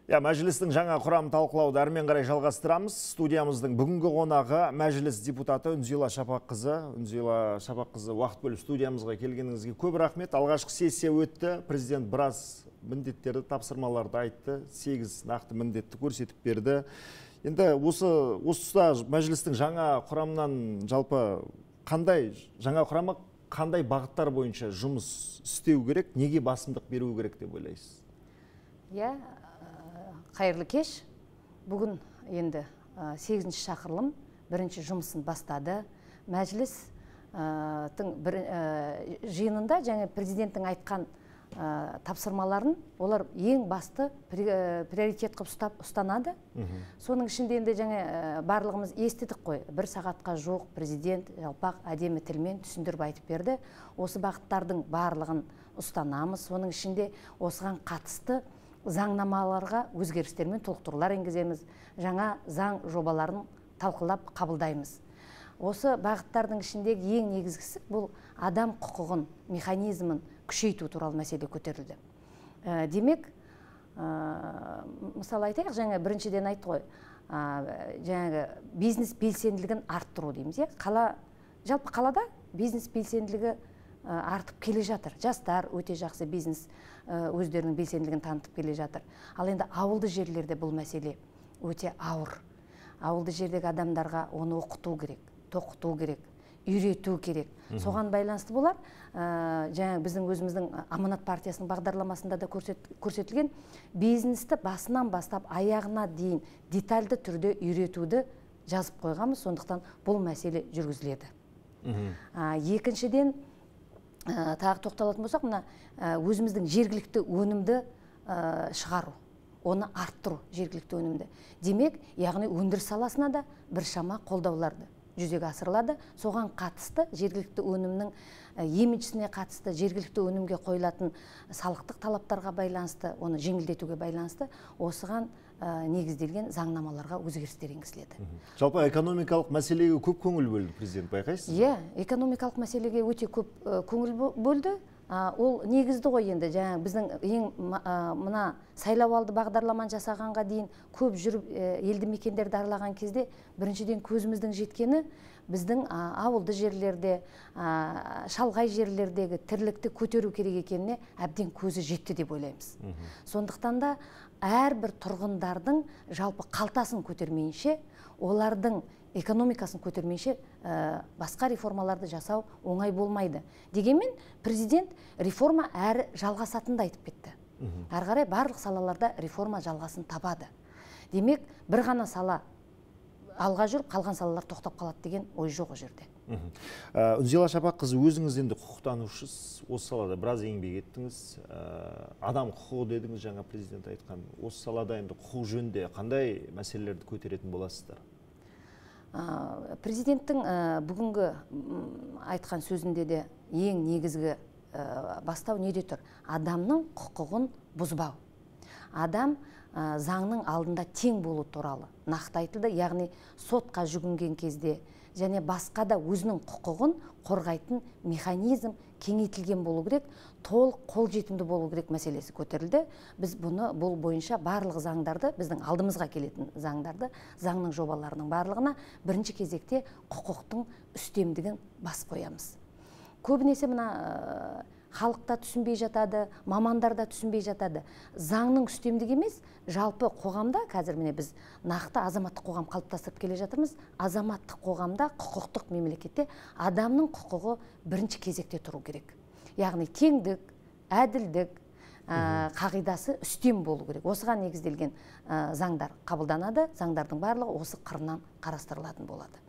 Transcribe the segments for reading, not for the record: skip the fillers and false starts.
Мәжілістің жаңа құрамын талқылауды әрмен қарай жалғастырамыз. Студиямыздың бүгінгі қонағы мәжіліс депутаты Үнзила Шапаққызы. Үнзила Шапаққызы, уақыт бөліп студиямызға келгеніңізге көп рахмет. Алғашқы сессия өтті. Президент біраз міндеттерді, тапсырмаларды айтты. 8 нақты міндетті көрсетіп берді. Енді осы тұста мәжілістің жаңа құрамынан жалпы жаңа құрамы қандай бағыттар бойынша жұмыс істеу керек, неге басымдық беру керек деп ойлайсыз? Қайырлы кеш. Бүгін енді 8-ші шақырылым бірінші жұмысын бастады. Мәжілістің жиынында және президенттің айтқан тапсырмаларын олар ең басты приоритет қылып ұстанады. Соның ішінде енді барлығымыз естідік қой. 1 сағатқа жоқ президент жалпақ әдемі тілмен түсіндіріп айтып берді. Осы бағыттардың барлығын ұстанамыз. Соның ішінде осыған қатысты заңнамаларға өзгерістер мен толықтырулар енгіземіз. Жаңа заң жобаларын талқылап қабылдаймыз. Осы бағыттардың ішіндегі ең негізгісі бұл адам құқығын, механизмін күшейту туралы мәселе көтерілді. Демек, мысалы айтайық, біріншіден айтты ғой, бизнес белсенділігін арттыру дейміз. Жалпы қалада бизнес белсенділігі артып келе жатыр. Жастар өте жақсы бизнес өздерінің белсенділігін танытып келе жатыр. Ал енді ауылды жерлерде бұл мәселе өте ауыр. Ауылды жердегі адамдарға оны оқыту керек, тоқыту керек, үйрету керек. Соған байланысты болар. Біздің өзіміздің Аманат партиясының бағдарламасында да көрсетілген бизнесті басынан бастап аяғына дейін детальды түрде үйретуді жазып қойғанбыз. Сондықтан бұл мәселе жүргізіледі. Екіншіден, тағы тоқталатын болсақ, өзіміздің жергілікті өнімді шығару, оны арттыру, жергілікті өнімді. Демек, яғни өндіріс саласына да біршама қолдауларды жүзеге асырылады. Соған қатысты жергілікті өнімнің имиджісіне қатысты, жергілікті өнімге қойылатын салықтық талаптарға байланысты, оны жеңілдетуге байланысты осыған негізделген заңнамаларға өзгерістер енгізіледі. Жалпы экономикалық мәселеге көп көңіл бөлді президент, байқайсыз? Экономикалық мәселеге өте көп көңіл бөлді. Ол негізді ғой енді. Біздің мына сайлауалды бағдарламаны жасағанға дейін көп жүріп елді мекендерді аралаған кезде біріншіден көзіміздің жеткені біздің ауылды жерлерде, шалғай жерлердегі тірлікті көтеру керек екеніне әбден көзі жетті деп ойлаймыз. Сондықтан да әрбір тұрғындардың жалпы қалтасын көтермейінше, олардың экономикасын көтермейінше басқа реформаларды жасау оңай болмайды. Дегенмен президент реформа әрі жалғасатынды айтып кетті. Әрі қарай барлық салаларда реформа жалғасын табады. Демек, бір ғана сала алға жүріп, қалған салалар тоқтап қалады деген ой жоқ о жерде. Үнзила Шапаққызы, өзіңіз енді құқықтанушысыз, осы салада біраз еңбек еттіңіз. Адам құқығы дедіңіз, жаңа президент айтқан. Осы салада енді құқық жөнінде қандай мәселелерді көтеретін боласыздар? Президенттің бүгінгі айтқан сөзінде де ең негізгі бастау неде тұр? Адамның құқығын бұзбау. Адам заңның алдында тең болу туралы нақты айтылды. Яғни сотқа жүгінген кезде және басқа да өзінің құқығын қорғайтын механизм кеңейтілген болу керек, толық қолжетімді болу керек мәселесі көтерілді. Біз бұл бойынша барлық заңдарды, біздің алдымызға келетін заңдарды, заңның жобаларының барлығына бірінші кезекте құқықтың үстемдігін бас қоямыз. Көбінесе халықта түсінбей жатады, мамандар да түсінбей жатады. Заңның үстемдігі емес, жалпы қоғамда, қазір біз нақты азаматтық қоғам қалыптастырып келе жатырмыз. Азаматтық қоғамда, құқықтық мемлекетте адамның құқығы бірінші кезекте тұру керек. Яғни теңдік, әділдік қағидасы үстем болу керек. Осыған негізделген заңдар қабылданады, заңдардың барлығы осы қырынан қарастырылатын болады.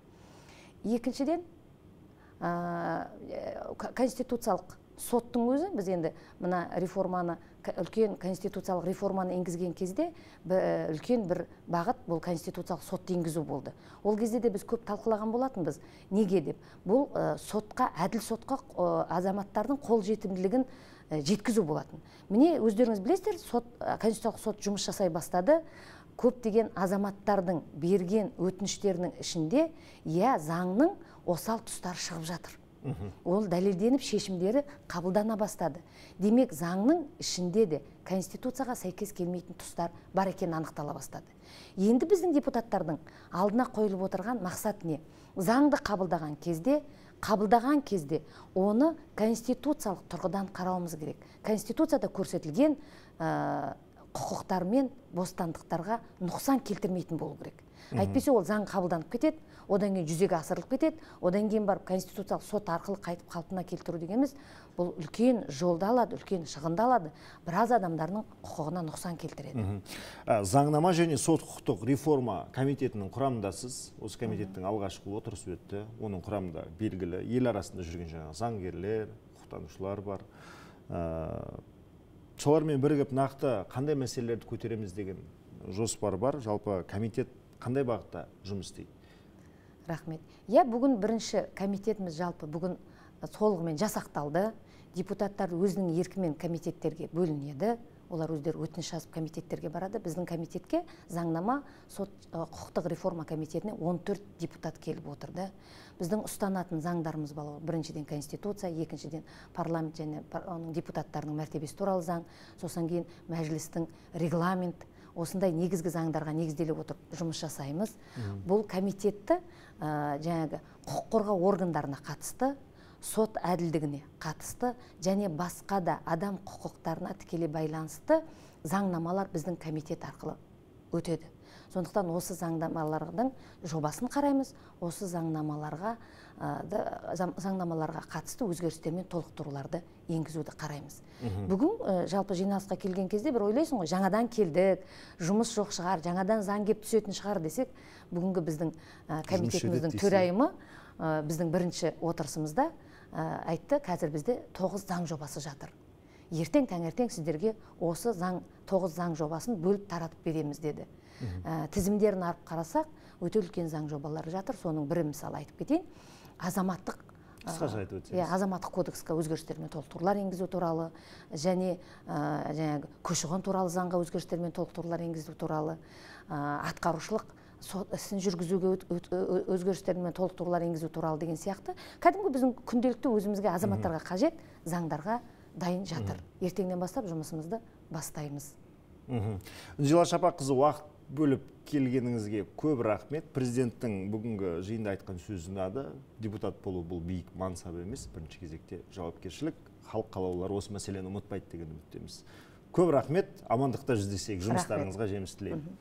Екіншіден, конституциялық соттың өзі, біз енді мына реформаны, үлкен конституциялық реформаны енгізген кезде үлкен бір бағыт бұл конституциялық сотты енгізу болды. Ол кезде де біз көп талқылаған болатынбыз. Неге деп? Бұл сотқа, әділ сотқа азаматтардың қолжетімділігін жеткізу болатын. Міне өздеріңіз білесіздер, конституциялық сот жұмыс жасай бастады. Көптеген азаматтардың берген өтініштерінің ішінде заңның осал тұстары шығып жатыр. Ол дәлелденіп шешімдері қабылдана бастады. Демек заңның ішінде де конституцияға сәйкес келмейтін тұстар бар екені анықтала бастады. Енді біздің депутаттардың алдына қойылып отырған мақсат не? Заңды қабылдаған кезде оны конституциялық тұрғыдан қарауымыз керек. Конституцияда көрсетілген құқықтар мен бостандықтарға нұқсан келтірмейтін болу керек. Әйтпесе ол заң қабылданып кетеді, одан кейін жүзеге асырылып кетеді, одан кейін барып конституциялық сот арқылы қайтып қалпына келтіру дегеніміз бұл үлкен жолды алады, үлкен шығынды алады, біраз адамдардың құқығына нұқсан келтіреді. Заңнама және сот құқықтық реформа комитетінің құрамындасыз. Осы комитеттің алғашқы отырысы өтті. Оның құрамында белгілі ел арасында жүрген жаңағы заңгерлер, құқықтанушылар бар. Солармен бірігіп нақты қандай мәселелерді көтереміз деген жоспар бар. Жалпы комитет қандай бағытта жұмыс істейді? Рахмет. Бүгін бірінші комитетіміз жалпы бүгін толығымен жасақталды. Депутаттар өзінің еркімен комитеттерге бөлінеді. Олар өздері өтініш жазып комитеттерге барады. Біздің комитетке заңнама сот құқықтық реформа комитетіне 14 депутат келіп отырды. Біздің ұстанатын заңдарымыз бар. Біріншіден конституция, екіншіден парламент және оның депутаттарының мәртебесі туралы заң, сосын кейін мәжілістің регламент, осындай негізгі заңдарға негізделіп отырып жұмыс жасаймыз. Бұл комитетті жаңағы құқық қорғау органдарына қатысты, сот әділдігіне қатысты және басқа да адам құқықтарына тікелей байланысты заңнамалар біздің комитет арқылы өтеді. Сондықтан осы заңнамалардың жобасын қараймыз, осы заңнамаларға қатысты өзгерістер мен толықтыруларды енгізуді қараймыз. Бүгін жалпы жиналысқа келген кезде бір ойлайсың ғой, жаңадан келдік, жұмыс жоқ шығар, жаңадан заң кеп түсетін шығар десек, бүгінгі біздің комитетіміздің төрайымы біздің бірінші отырысымызда айтты, қазір бізде 9 заң жобасы жатыр. Ертең таңертең сіздерге осы 9 заң жобасын бөліп таратып береміз деді. Тізімдерін арып қарасақ, өте үлкен заң жобалары жатыр. Соның бірі мысалы айтып кетейін. Азаматтық кодекске өзгерістер мен толықтырулар енгізу туралы және көші-қон туралы заңға өзгерістер мен толықтырулар енгізу туралы, атқарушылық сот ісін жүргізуге өзгерістер мен толықтырулар енгізу туралы деген сияқты кәдімгі біздің күнделікті өзімізге азаматтарға қажет заңдарға дайын жатыр. Ертеңнен бастап жұмысымызды бастаймыз. Үнзила Шапаққызы, уақыт бөліп келгеніңізге көп рахмет. Президенттің бүгінгі жиында айтқан сөзі ұнады. Депутат болу бұл биік мансап емес, бірінші кезекте жауапкершілік. Халық қалаулылары осы мәселені ұмытпайды деген үміттеміз. Көп рахмет, амандықта жүздесейік, жұмыстарыңызға жеміс тілеймін.